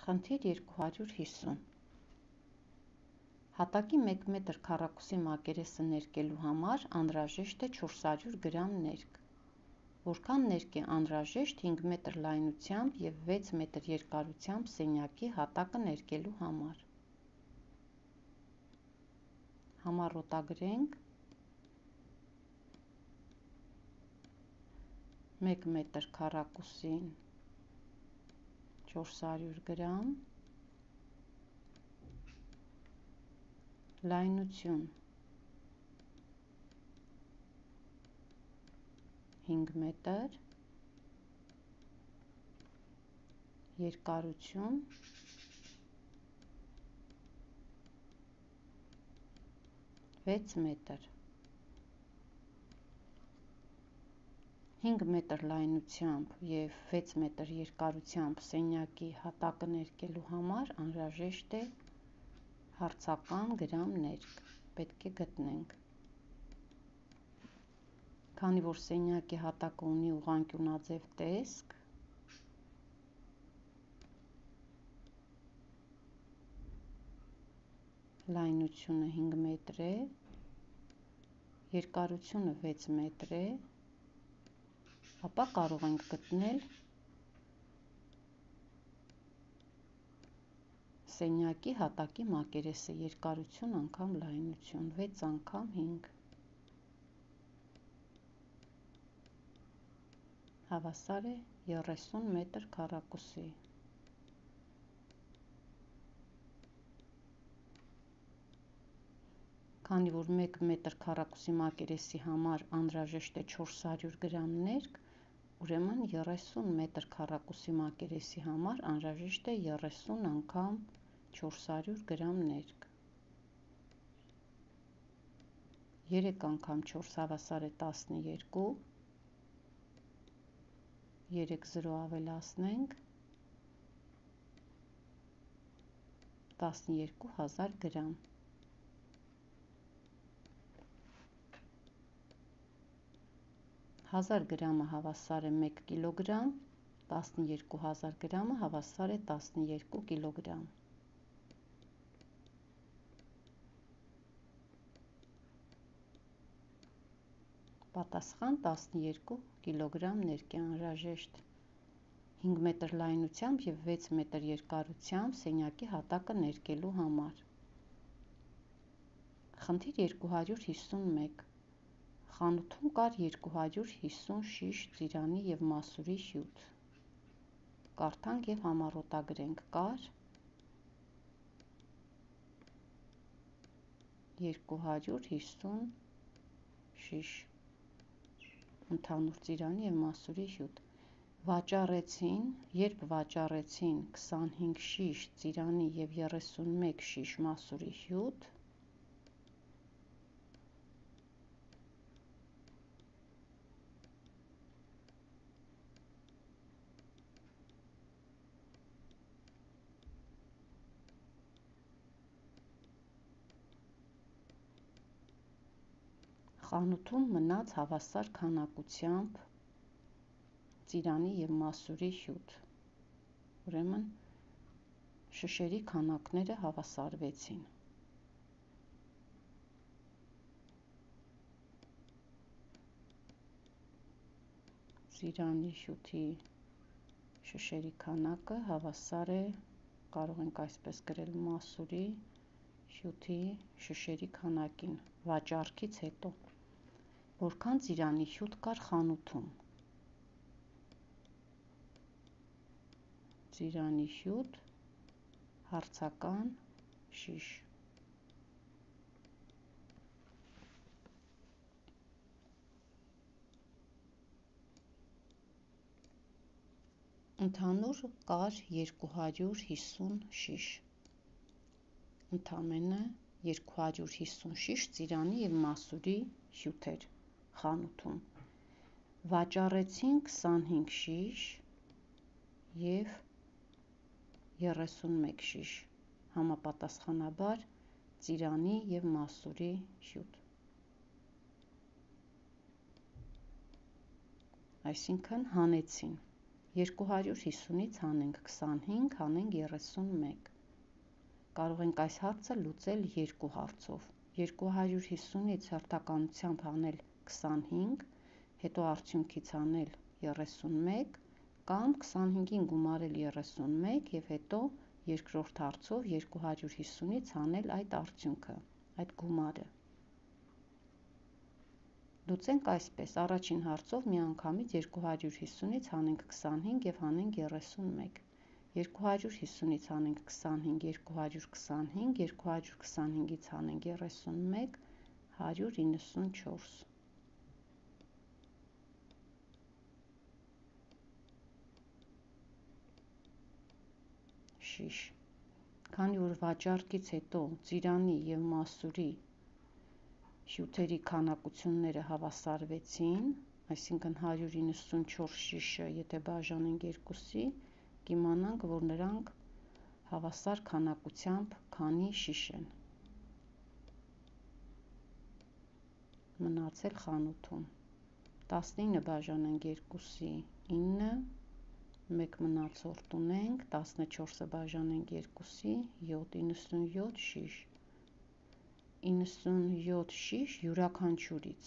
Խնդիր 250 Հատակի 1 մետր քառակուսի մակերեսը ներկելու համար անհրաժեշտ է 400 գրամ ներք։ Որքան ներք է անհրաժեշտ 5 մետր լայնությամբ և 6 մետր երկարությամբ սենյակի հատակը ներկելու համար։ Համառոտագրենք 1 մետր քառակուսին 400 գրամ, լայնություն 5 մետր, երկարություն 6 մետր։ 5 մետր լայնությամբ և 6 մետր երկարությամբ սենյակի հատակը ներկելու համար անհրաժեշտ է հարցական գրամ ներք, պետք է գտնենք։ Քանի որ սենյակի հատակը ունի ուղղանկյունաձև տեսք, լայնությունը 5 մետր է, երկարությունը 6 մետր է, ապա կարող ենք գտնել սենյակի հատակի մակերեսը երկարություն անգամ լայնություն 6 անգամ 5 հավասար է 30 մետր քառակուսի։ Քանի որ 1 մետր քառակուսի մակերեսի համար անհրաժեշտ է 400 գրամ ներք, ուրեմն 30 մետր քառակուսի մակերեսի համար անհրաժեշտ է 30 անգամ 400 գրամ ներք։ 3 անգամ 4 հավասար է 12, 3 0 ավելացնենք 12000 գրամ։ 1000 գրամը հավասար է 1 կիլոգրամ, 12000 գրամը հավասար է 12 կիլոգրամ։ Պատասխան 12 կիլոգրամ ներք է անհրաժեշտ 5 մետր լայնությամբ և 6 մետր երկարությամբ սենյակի հատակը ներկելու համար։ Խնդիր 251 Խանութում կար 250 շիշ ծիրանի և մասուրի հյութ։ Կարդանք և համառոտագրենք. կար 250 շիշ ընդհանուր ծիրանի և մասուրի հյութ։ Երբ վաճառեցին 25 շիշ ծիրանի և 31 շիշ մասուրի հյութ, խանութում մնաց հավասար քանակությամբ ծիրանի և մասուրի հյութ, ուրեմն շշերի քանակները հավասարվեցին։ Ծիրանի հյութի շշերի քանակը հավասար է, կարող ենք այսպես գրել, մասուրի հյութի շշերի քանակին վաճառքից հետո։ Որքան ծիրանի հյութ կար խանութում։ Ծիրանի հյութ հարցական շիշ։ Ընդհանուր կար 250 շիշ։ Ընդամենը 250 շիշ ծիրանի և մասուրի հյութ էր խանութում։ Վաճառեցին 25 շիշ և 31 շիշ, համապատասխանաբար ծիրանի և մասուրի հյութ։ Այսինքն հանեցին 250-ից հանենք 25, հանենք 31։ Կարող ենք այս հարցը լուծել երկու հարցով։ 250-ից հերթականությամբ հանել 25, հետո արդյունքից հանել 31, կամ 25-ին գումարել 31 և հետո երկրորդ հարցով 250-ից հանել այդ արդյունքը, այդ գումարը։ Լուծենք այսպես. առաջին հարցով միանգամից 250-ից հանենք 25 և հանենք 31։ 250-ից հանենք 25, 225, 225-ից հանենք 31, 194։ Շիշ։ Քանի որ վաճառքից հետո ծիրանի և մասուրի հյութերի քանակությունները հավասարվեցին, այսինքն 194 շիշը, եթե բաժանենք 2-ի, կիմանանք, որ նրանք հավասար քանակությամբ քանի շիշ են մնացել խանութում։ 19 բաժանենք 2-ի, 9, 1 մնացորդ ունենք, 14-ը բաժանենք 2-ի, 7, 97 շիշ։ 97 շիշ յուրաքանչյուրից,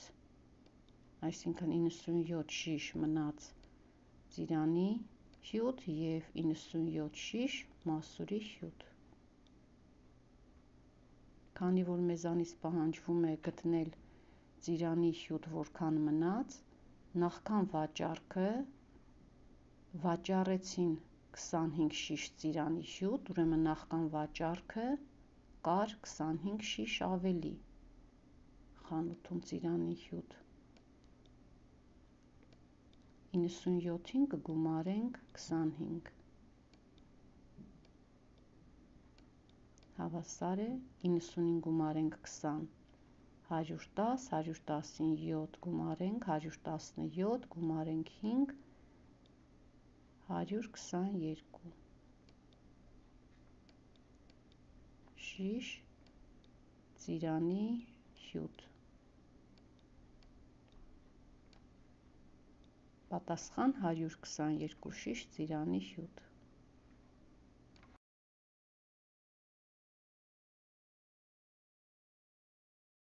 այսինքն 97 շիշ մնաց ծիրանի հյութ և 97 շիշ մասուրի հյութ։ Քանի որ մեզանից պահանջվում է գտնել ծիրանի հյութ որքան մնաց, նախքան վաճառքը վաճառեցին 25 շիշ ծիրանի հյութ, ուրեմն նախքան վաճառքը կար 25 շիշ ավելի խանութում ծիրանի հյութ։ 97-ին կգումարենք 25, հավասար է 90-ին գումարենք 20, 110, 110-ին 7 գումարենք 117, գումարենք 5, 122 շիշ ծիրանի հյութ։ Պատասխան՝ 122 շիշ ծիրանի հյութ։